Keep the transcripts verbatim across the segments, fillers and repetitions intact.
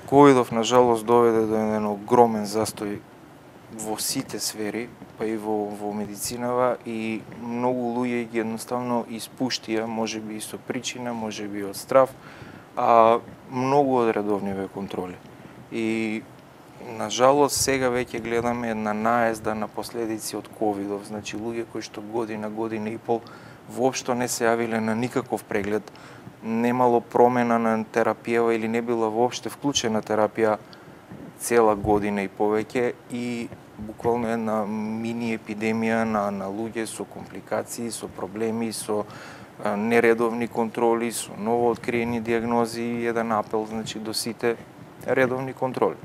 Ковидов на жалост доведе до еден огромен застој во сите сфери, па и во, во медицинава, и многу луѓе ги едноставно испуштија, можеби и со причина, можеби од страв, а многу од редовниве контроли. И на жалост сега веќе гледаме една наезда на последици од ковидов, значи луѓе кои што година, година и пол воопшто не се јавиле на никаков преглед, немало промена на терапија или не била воопште вклучена терапија цела година и повеќе, и буквално една мини епидемија на, на луѓе со компликации, со проблеми, со а, нередовни контроли, со ново откриени диагнози, и еден апел, значи, до сите редовни контроли.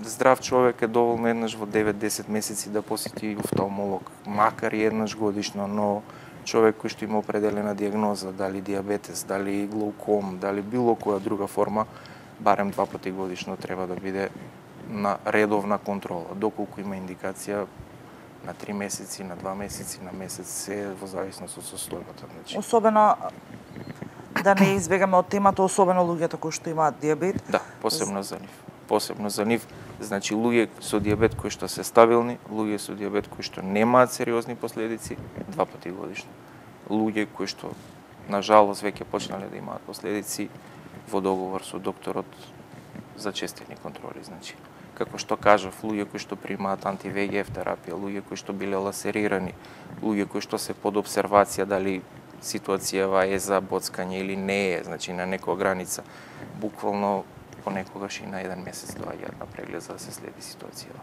Здрав човек е доволно еднаш во девет-десет месеци да посети офталмолог, макар и еднаш годишно, но човек кој што има определена диагноза, дали диабетес, дали глауком, дали било која друга форма, барем два пати годишно треба да биде на редовна контрола. Доколку има индикација на три месеци, на два месеци, на месец, се во зависност од состојбата. Значи. Особено да не избегаме од темата, особено луѓето кои што имаат диабет. Да, посебно за нив. Посебно за нив, значи луѓе со диабет кои што се стабилни, луѓе со диабет кои што немаат сериозни последици, два пати годишно. Луѓе кои што на жалост веќе почнале да имаат последици, во договор со докторот за честени контроли, значи. Како што кажав, луѓе кои што примаат анти-ве ге еф терапија, луѓе кои што биле ласерирани, луѓе кои што се под обсервација дали ситуацијава е за боцкање или не е, значи на некоја граница, буквално понекогаш и на еден месец доаѓаат на преглед за да се следи ситуацијава.